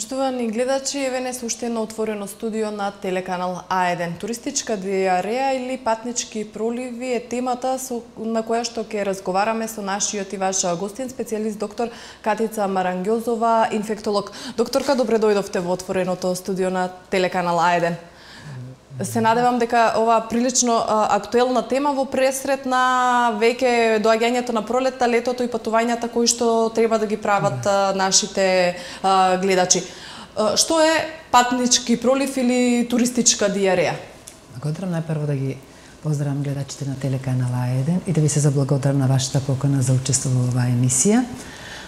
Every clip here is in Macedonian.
Поштовани гледачи, еве не уште едно отворено студио на телеканал А1. Туристичка диареја или патнички проливи е темата на која што ќе разговараме со нашиот и ваш гостин, специјалист доктор Катица Марангјозова, инфектолог. Докторка, добре дојдовте во отвореното студио на телеканал А1. Се надевам дека ова прилично актуелна тема во пресрет на веќе доаѓањето на пролетта, летото и патувањата кои што треба да ги прават нашите гледачи. Што е патнички пролив или туристичка диареја? Благодарам најпрво да ги поздравам гледачите на телеканал А1 и да ви се заблагодарам на вашата покана за учество во оваа емисија.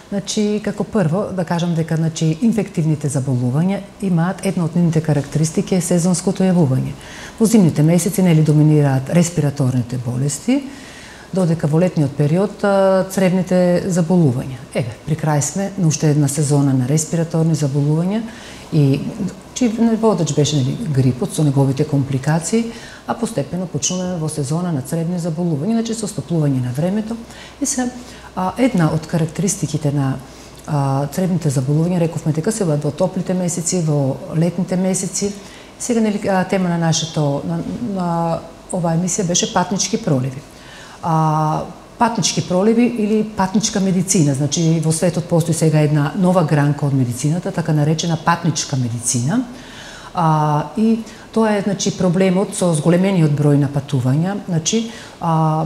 Значи, како прво, да кажам дека инфективните заболувања имаат една од нивните карактеристики е сезонското јавување. Во зимните месеци доминираат респираторните болести, додека во летниот период цревните заболувања. Еве, при крај сме на уште една сезона на респираторни заболувања и водач беше грипот со неговите компликации, а постепено почнуваме во сезона на цревни заболувања, значи со стопнување на времето. И се една од карактеристиките на цревните заболувања, рековме дека се во топлите месеци, во летните месеци. Сега тема на на оваа емисија беше патнички проливи. Патнички проливи или патничка медицина, значи во светот постои сега една нова гранка од медицината, така наречена патничка медицина. И тоа е проблемот со зголемениот број на патувања,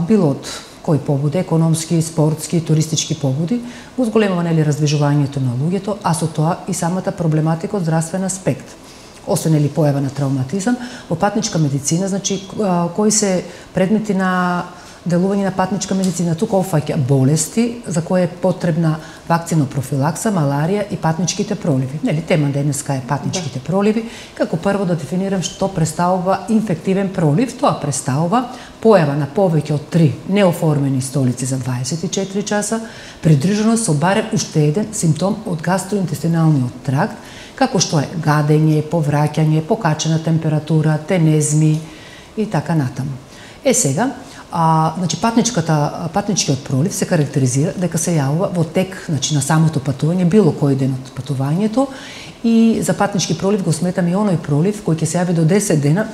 било од кои побуди, економски, спортски, туристички побуди, го зголемува раздвижувањето на луѓето, а со тоа и самата проблематика од здравствен аспект. Освен појава на травматизам, во патничка медицина, кои се предмети на делување на патничка медицина, тука опфаќа болести за кои е потребна вакцинопрофилакса, маларија и патничките проливи. Тема денеска е патничките проливи. Како прво да дефинирам што представува инфективен пролив. Тоа представува појава на повеќе од 3 неоформени столици за 24 часа, придржано со барем уште еден симптом од гастроинтестиналниот тракт, како што е гадење, повраќање, покачена температура, тенезми и така натаму. Сега, патничкиот пролив се карактеризира дека се јавува во тек на самото патување, било кој ден од патувањето, и за патнички пролив го сметаме и оној пролив кој ќе се јави до 10 дена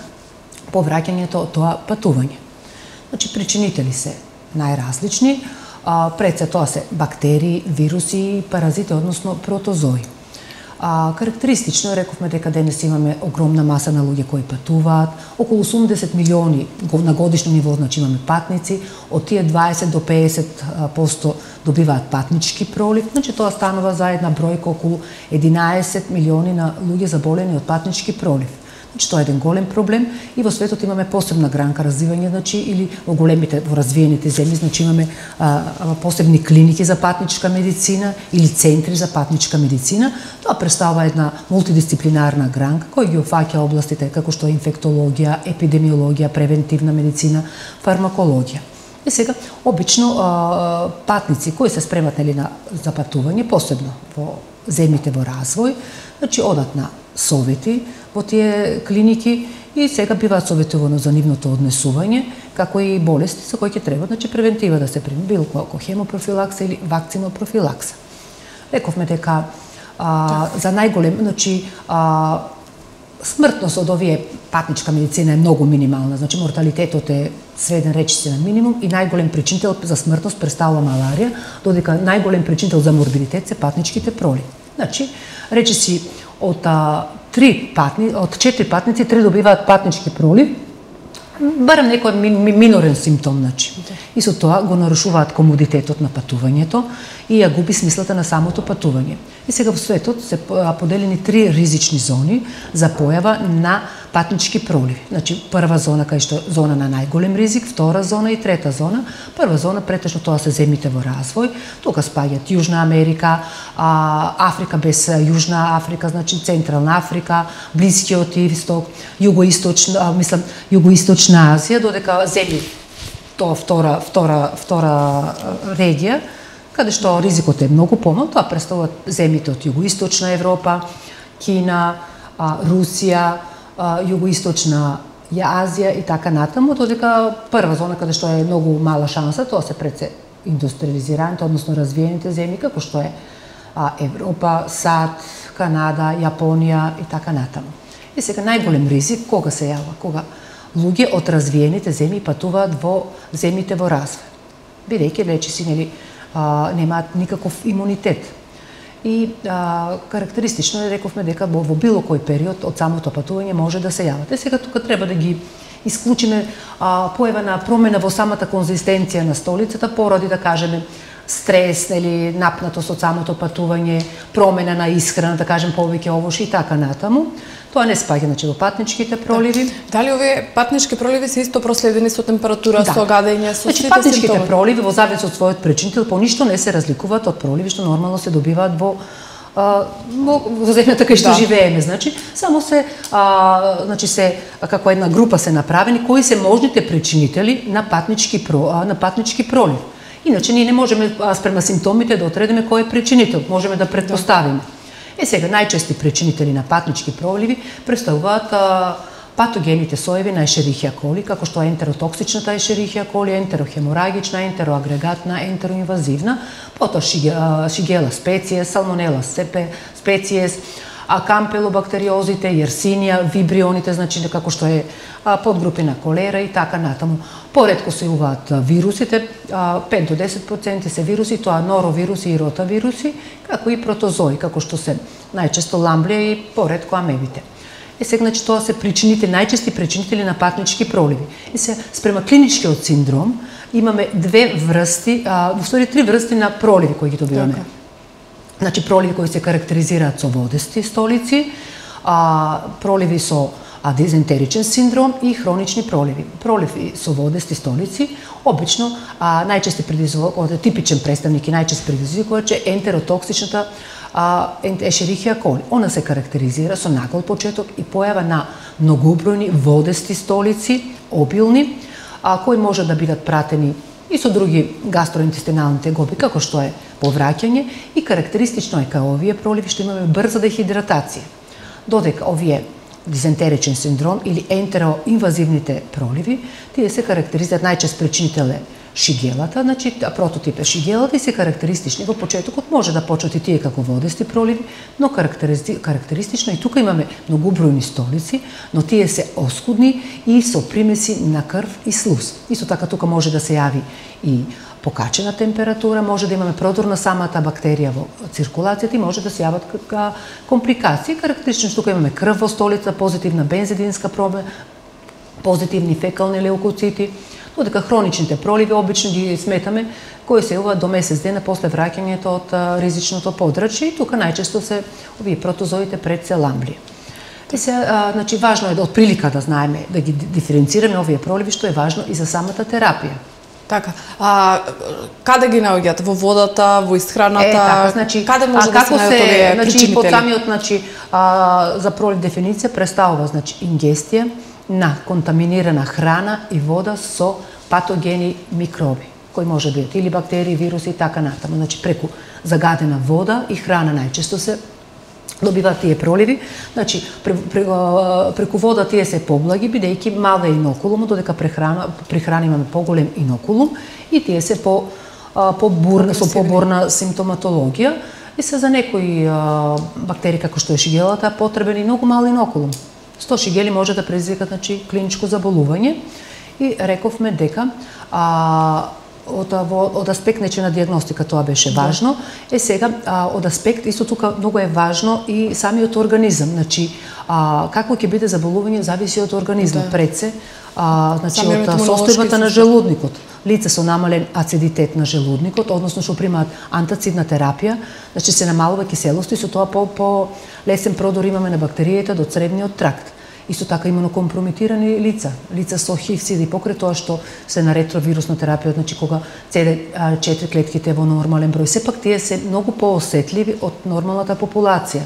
по враќањето од тоа патување. Причинители се најразлични, пред се тоа се бактерии, вируси, паразити, односно протозои. Карактеристично рековме дека денес имаме огромна маса на луѓе кои патуваат, околу 80 милиони на годишно ниво, имаме патници, од тие 20 до 50% добиваат патнички пролив, тоа станува за една бројка околу 11 милиони на луѓе заболени од патнички пролив. Тоа е еден голем проблем и во светот имаме посебна гранка развивање, или во големите, во развиените земји, имаме посебни клиники за патничка медицина или центри за патничка медицина. Тоа представува една мултидисциплинарна гранка која ги опфаќа областите како што е инфектологија, епидемиологија, превентивна медицина, фармакологија. И сега, обично патници кои се спремат за патување, посебно во земјите во развој, одат на совети во тие клиники и сега биваат советувано за нивното однесување, како и болести за кои ќе треба превентива да се прими, било како хемопрофилакса или вакцинопрофилакса. Рековме дека за најголем, смртност од овие патничка медицина е многу минимална, морталитетот е сведен речиси на минимум и најголем причинител за смртност представува маларија, додека најголем причинител за морбидитет се патничките проливи. Речиси од 4 патници, 3 добиваат патнички пролив, барем некој минорен симптом, и со тоа го нарушуваат комодитетот на патувањето и ја губи смислата на самото патување. И сега во светот се поделени 3 ризични зони за појава на патнички проливи. Прва зона кај што зона на најголем ризик, втора зона и трета зона. Прва зона претежно тоа се земјите во развој. Тука спаѓаат Јужна Америка, Африка без Јужна Африка, Централна Африка, Блискиот Исток, Југоисточна Азија, додека земји тоа втора регија, каде што ризикот е многу помал, тоа представуваат земјите од Југоисточна Европа, Кина, Русија, Југоисточна Азија и така натаму, додека прва зона каде што е многу мала шанса, тоа се пред се индустриализираните, односно развиените земји, како што е Европа, САД, Канада, Јапонија и така натаму. И сега најголем ризик кога се јава? Кога луѓе од развиените земји патуваат во земјите во развој. Бидејќи речиси немаат никаков имунитет. И карактеристично е, рековме дека во било кој период од самото патување може да се јават. Сега тука треба да ги исклучиме појава на промена во самата конзистенција на столицата поради, да кажеме, стрес или напнатост од самото патување, промена на исхрана, да кажем повеќе овоши и така натаму. Тоа не спаѓа во патничките проливи. Дали овие патнички проливи се исто проследени со температура, со гадење, со сите симптоми? Патничките проливи во зависност од својот причинител по ништо не се разликуваат од проливи што нормално се добиваат во земјата кај што живееме, само се се како една група се направени кои се можните причинители на патнички пролив. Иначе ние не можеме спрема симптомите да отредиме кој е причинител, можеме да претпоставиме. Сега најчести причинители на патнички проливи представуваат патогените соеви на Ешерихија коли, како што е ентеротоксичната Ешерихија коли, ентерохеморагична, ентероагрегатна, ентероинвазивна, потоа шигела специес, салмонела специес, кампелобактериозите, јерсинија, вибрионите, како што е подгрупи на колера и така натаму. Поретко се јавуваат вирусите, 5 до 10% се вируси, тоа норовируси и ротавируси, како и протозои, како што се најчесто ламблија и поретко амебите. Сега, тоа се најчести причинители на патнички проливи. Спрема клиничкиот синдром имаме две врсти, три врсти на проливи кои ги добиваме. Проливи кои се карактеризираат со водести столици, проливи со дизентеричен синдром и хронични проливи. Проливи со водести столици, обично најчести предизвикувач, типичен представник и најчести предизвикувач е ентеротоксичната Ешерихија коли. Она се карактеризира со нагол почеток и појава на многобројни водести столици, обилни, кои може да бидат пратени и со други гастроинтестинални тегоби, како што е повраќање, и карактеристично е кај овие проливи што имаме брза дехидратација. Додека овие дизентеричен синдром или ентероинвазивните проливи, тие се карактеризираат најчест причинител е шигелата, прототип е шигелата и се карактеристични. Во почетокот може да почнат и тие како водести проливи, но карактеристично и тука имаме многобројни столици, но тие се оскудни и со примеси на крв и слуз. Исто така тука може да се јави и покачена температура, може да имаме продор на самата бактерија во циркулацијата и може да се јават компликации. Карактеристично тука имаме крв во столица, позитивна бензидинска проба, позитивни фекални леукоцити, додека хроничните проливи обично ги сметаме кои се јавуваат до месец дена после враќањето од ризичното подрачје и тука најчесто се овие протозоите пред се ламблија. Важно е да од прилика да знаеме, да ги диференцираме овие проливи, што е важно и за самата терапија. Така. Каде ги наоѓаат? Во водата, во исхраната? Каде може да се наоѓаат овие причинители? Под самиот за пролив дефиниција представува ингестија на контаминирана храна и вода со патогени микроби, кои може да бидат или бактерии, вируси и така натаму. Преку загадена вода и храна најчесто се добиваат тие проливи. Преку вода тие се поблаги, бидејќи мал е инокулум, додека при храна имаме поголем инокулум и тие се со поборна симптоматологија. И се за некои бактерии како што е шигелата потребен и многу мал инокулум. 100 шигели може да предизвикат клиничко заболување и рековме дека од аспект на диагностика тоа беше важно. Сега од аспект исто тука многу е важно и самиот организам, како ќе биде заболување зависи од организмот пред се, од состојбата на желудникот. Лица со намален ацидитет на желудникот, односно што примаат антацидна терапија, се намалува киселост и со тоа по лесен продор имаме на бактеријата до цревниот тракт. Исто така имунокомпрометирани лица со ХИВ, СИД и покрај тоа што се на ретровирусна терапија, кога CD4 клетките во нормален број, сепак тие се многу поосетливи од нормалната популација.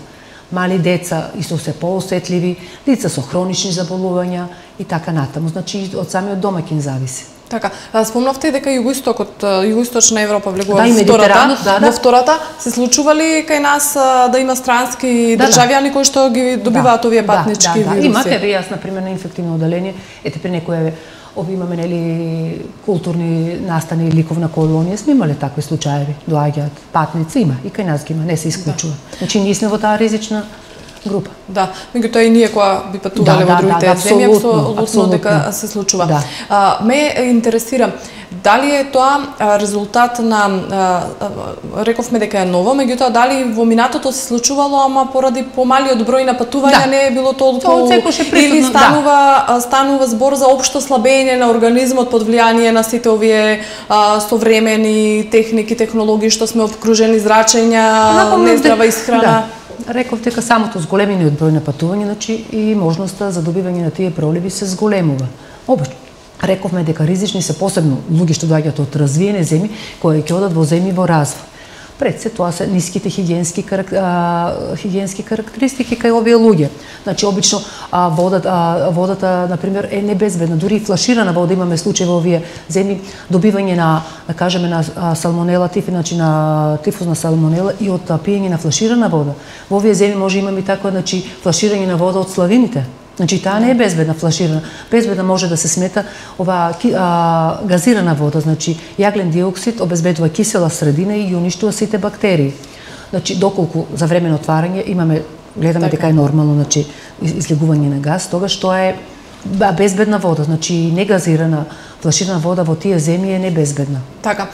Мали деца исто се поосетливи, лица со хронични заболувања и така натаму. Од самиот домаќин зависи. Така, спомнавте дека југоистокот, југоисточна Европа влегува во втората, се случували кај нас да има странски државјани кои што ги добиваат овие патнички вируси? Имате, јас, например, на инфективно оделение, при некој Ови имаме нели културни настани, ликовна колонија, сме имале такви случаи, доаѓаат патници, има и кај нас ги има, не се исклучува. Значи ние сме во таа ризична група. Да, меѓутоа и ние кога би патувале во другите земји, апсолутно дека се случува. Да. Ме интересира дали е тоа резултат на рековме дека е ново, меѓутоа дали во минатото се случувало, ама поради помалиот број на патувања не е било толку или станува збор за општо слабење на организмот под влијание на сите овие современи техники, технологии што сме обкружени, зрачења, нездрава исхрана. Да. Реков дека самото зголемениот број на патувања, значи и можноста за добивање на тие проливи се зголемува. Рековме дека ризични се посебно луѓе што доаѓаат од развиени земји кои ќе одат во земји во развој. Пред се тоа се ниските хигиенски карактеристики кај овие луѓе. Значи обично водата на пример е небезбедна, дури и флаширана вода имаме случаи во овие земји добивање на, да кажеме, на салмонела тиф, значи на тифузна салмонела и од пиење на флаширана вода. Во овие земји може имаме така, значи флаширање на вода од славините. Значи таа не е безбедна флаширана. Безбедна може да се смета ова газирана вода, значи јаглен диоксид обезбедува кисела средина и ги уништува сите бактерии. Значи доколку за време на отварање гледаме дека е нормално, значи излегување на газ, тогаш тоа е безбедна вода, значи негазирана флаширана вода во тие земји е небезбедна. Така.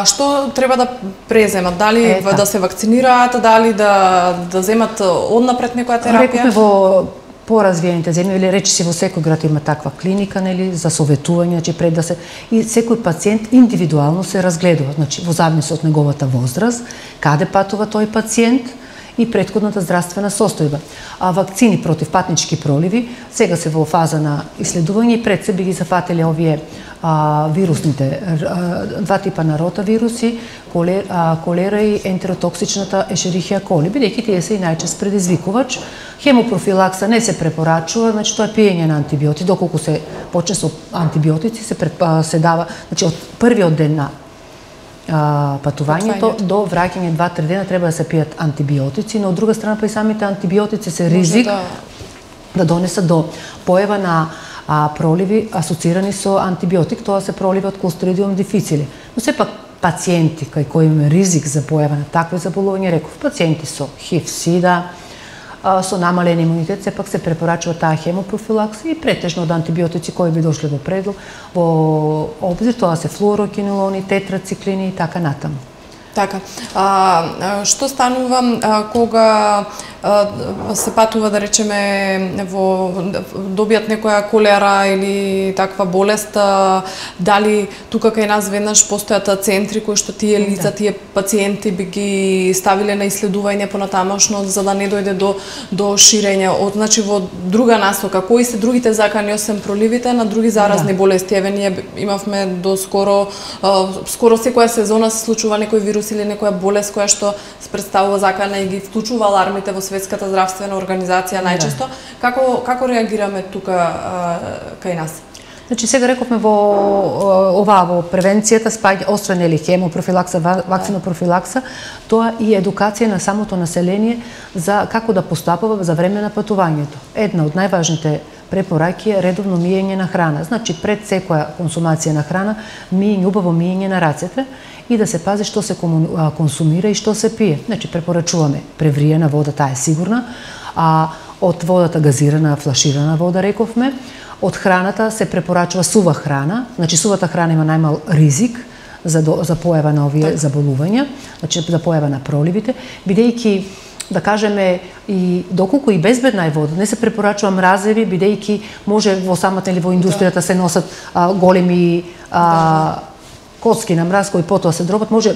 Што треба да преземат? Дали да се вакцинираат, дали да земат однапред некоја терапија? Рековме во поразвиените земји, или речиси во секој град има таква клиника, нели, за советување, значи пред да се и секој пациент индивидуално се разгледува, значи во зависност од неговата возраст, каде патува тој пациент и претходната здравствена состојба. Вакцини против патнички проливи сега се во фаза на исследување и пред се би ги зафатиле овие вирусните, два типа на ротавируси, колера и ентеротоксичната ешерихија коли, бидејќи тие се и најчест предизвикувач. Хемопрофилакса не се препорачува, значи тоа е пиење на антибиотици, доколку се почне со антибиотици се дава, значи од првиот ден на патувањето до враќање 2-3 дена треба да се пијат антибиотици, но од друга страна па и самите антибиотици се ризик да донесат до појава на проливи асоцирани со антибиотик, тоа се проливи од Clostridium difficile. Но сепак пациенти кај кои има ризик за појава на такви заболувања, реков, пациенти со ХИВ, СИДА, со намален имунитет, сепак се препорачува таа хемопрофилакса и претежно од антибиотици кои би дошле во обзир, тоа се флуорокинолони, тетрациклини и така натаму. Така. Што станува кога се патува, да речеме, добијат некоја колера или таква болест, дали тука кај нас веднаш постојат центри кои што тие лица, тие пациенти би ги ставиле на исследување понатамошно за да не дојде до ширење, значи во друга насока, кои се другите закани освен проливите на други заразни болести? Еве ние имавме до скоро секоја сезона се случува некој вирус или некоја болест која што се представува закана и ги вклучува алармите во Светската здравствена организација најчесто. Како реагираме тука кај нас? Значи сега рековме во превенцијата спаѓа освен или хемопрофилакса, вакцинопрофилакса, тоа и едукација на самото население за како да постапува за време на патувањето. Една од најважните препораки е редовно миење на храна. Значи пред секоја консумација на храна, убаво миење на рацете и да се пази што се консумира и што се пие. Значи препорачуваме превриена вода, таа е сигурна, од водата газирана, флаширана вода рековме. Од храната се препорачува сува храна, значи сувата храна има најмал ризик за појава на овие заболувања, значи за појава на проливите, бидејќи да кажеме и доколку и безбедна е вода, не се препорачува мразеви, бидејќи може во самата или во индустријата се носат големи коцки на мраз кои потоа се дробат, може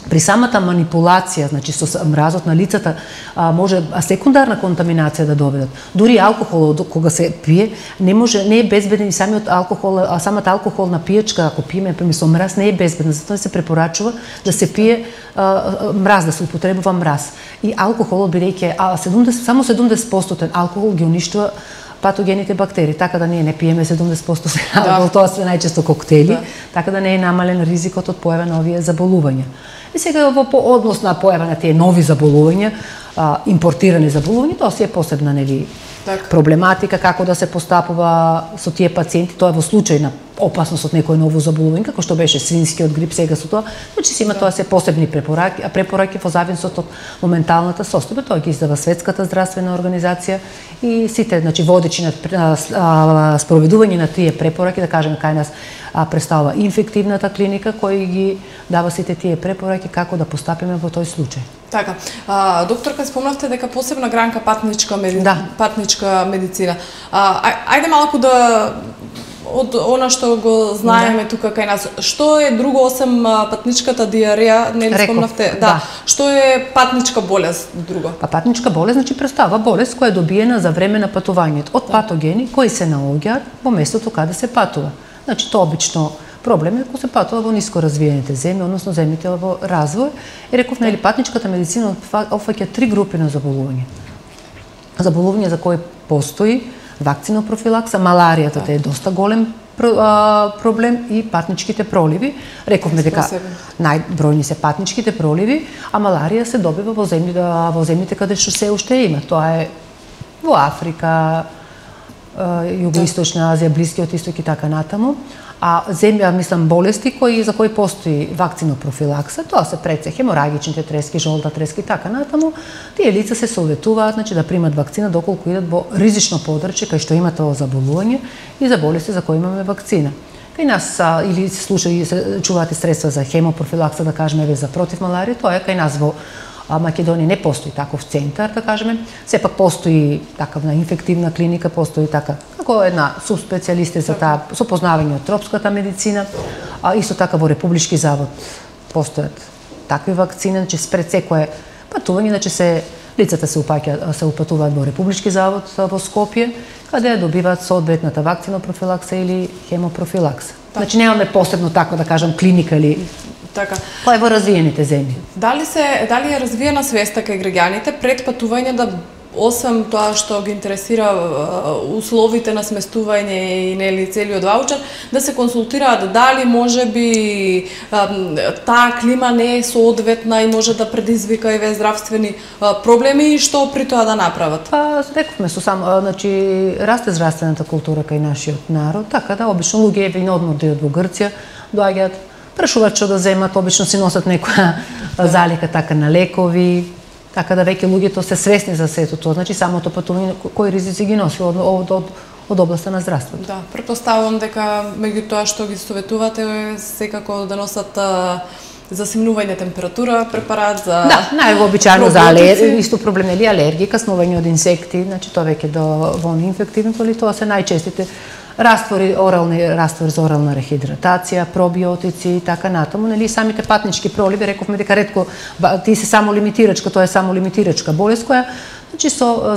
при самата манипулација, значи со мразот на лицата, може секундарна контаминација да доведат. Дури алкохолот кога се пие, не е безбеден и самиот алкохол, самата алкохолна пијачка, ако пиеме со мраз, не е безбедна, затоа се препорачува да се пие мраз, да се употребува мраз. И алкохолот, бидејќи само 70% алкохол ги уништува патогените бактерии, така да ние не пиеме 70% алкохол, тоа се најчесто коктели, така да не е намален ризикот од појава на овие заболувања. И сега во однос на појава на тие нови заболувања, импортирани заболувања, тоа си е посебна проблематика, како да се постапува со тие пациенти, тоа е во случај на опасност од некој ново заболување, како што беше свинскиот грип, сега со тоа, значи се има тоа се посебни препораки во зависност од моменталната состојба, тоа ги издава Светската здравствена организација и сите, значи водечи на спроведување на тие препораки, да кажеме кај нас представува инфективната клиника кој ги дава сите тие препораки како да постапиме во тој случај. Така. Докторка, спомнавте дека посебна гранка патничка медицина. Ајде малку да од она што го знаеме тука кај нас. Што е друго осем патничката диареја, нели спомнавте? Да. Што е патничка болест друго? Патничка болест значи представува болест која е добиена за време на патувањето од патогени кои се наоѓаат во местото каде се патува. Значи тоа обично проблем е кога се патува во ниско развиените земји, односно земјите во развој. И реков, нели, патничката медицина опфаќа 3 групи на заболувања. Заболување за кои постои вакцинопрофилакса, маларијата е доста голем проблем и патничките проливи. Рековме дека најбројни се патничките проливи, а маларија се добива во земјите каде што се уште има. Тоа е во Африка, Југоисточна Азија, Блискиот исток и така натаму. А болести за кои постои вакцинопрофилакса, тоа се преце хеморагичните трески, жолта трески и така натаму. Тие лица се советуваат, значи да примат вакцина доколку идат во ризично подрачје кај што има тоа заболување и за болести за кои имаме вакцина. Кај нас или се чуваате средства за хемопрофилакса, да кажеме за против маларија, тоа е кај нас во Македонија не постои таков центар, да кажеме. Сепак постои такавна инфективна клиника, постои како една субспецијалисти за таа со познавање од тропската медицина. Исто така во Републички завод постојат такви вакцини, значи пред секое патување, значи лицата се упатуваат во Републички завод во Скопје, каде добиваат соодветната вакцинопрофилакса или хемопрофилакса. Значи немаме посебно така да кажам клиника или така. Тоа е во развиените земји. Дали е развиена свеста кај граѓаните пред патување да освен тоа што ги интересира условите на сместување и нели целиот ваучер, да се консултираат дали можеби таа клима не е соодветна и може да предизвика еве здравствени проблеми и што при тоа да направат? Рековме значи расте здравствената култура кај нашиот народ, така да обично луѓе еве на одмор да во Грција доаѓаат, прашуваат што да земат, обично си носат некоја залика така на лекови, така да веќе луѓето се свесни за сето тоа, значи самото патување кои ризици ги носи од областа на здравството. Да, претпоставувам дека меѓу тоа што ги советувате е секако да носат за симнување температура препарат за највообичаено за алергија, исто проблем нели алергија, каснување од инсекти, значи тоа веќе во инфективното ли тоа се најчестите раствори за орална рехидратација, пробиотици и така натаму, нели самите патнички проливи, рековме дека ретко ти се само лимитирачка, тоа е само лимитирачка болест која значи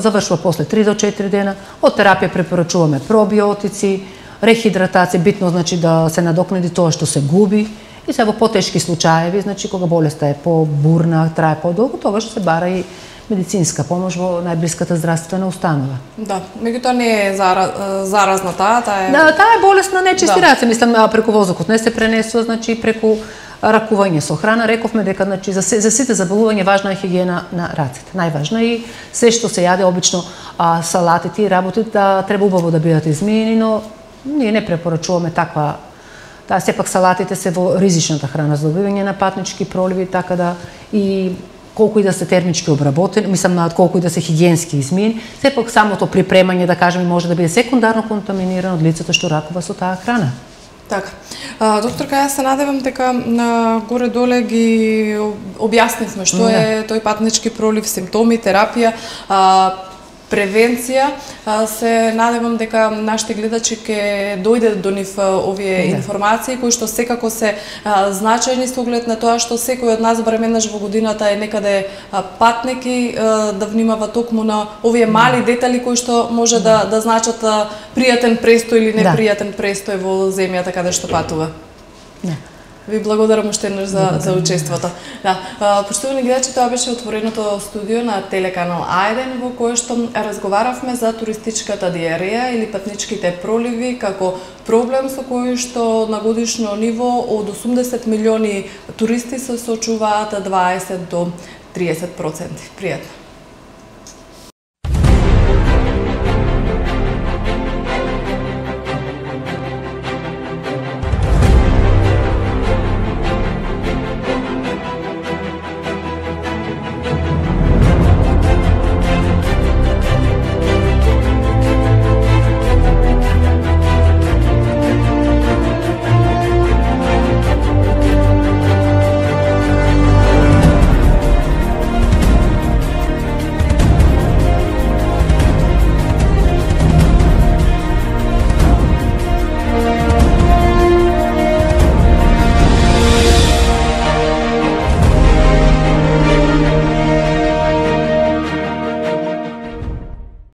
завршува после 3 до 4 дена. Од терапија препорачуваме пробиотици, рехидратација, битно значи да се надокнади тоа што се губи. И се во потешки случаеви, значи кога болеста е побурна, трае подолго, тогаш се бара и медицинска помош во најблиската здравствена установа. Да, меѓутоа не е заразна таа е... Да, таа е болест на нечисти раци, мислам преку воздухот не се пренесува, значи преку ракување со храна. Рековме дека значи за сите заболувања важна е хигиена на рацете. Најважна и се што се јаде обично салатите и работите треба убаво да бидат измиени, но ние не препорачуваме таква. Таа сепак салатите се во ризичната храна за добивање на патнички проливи, така да и колку и да се термички обработени, мислам колку и да се хигиенски измиени, сепак самото припремање, да кажеме, може да биде секундарно контаминирано од лицето што ракува со таа храна. Така. Докторка, јас се надевам дека горе-доле ги објаснивме што е тој патнички пролив, симптоми, терапија, превенција. Се надевам дека нашите гледачи ќе дојде до нив овие информации кои што секако се значајни со оглед на тоа што секој од нас барем еднаш во годината е некаде патник и да внимава токму на овие мали детали кои што може да значат пријатен престој или непријатен престој во земјата каде што патува. Ви благодарам уште еднаш за учеството. Да, почитувани гледачи, тоа беше отвореното студио на телеканал А1 во кое што разговаравме за туристичката диареја или патничките проливи како проблем со кој што на годишно ниво од 80 милиони туристи се соочуваат 20 до 30%. Пријатно.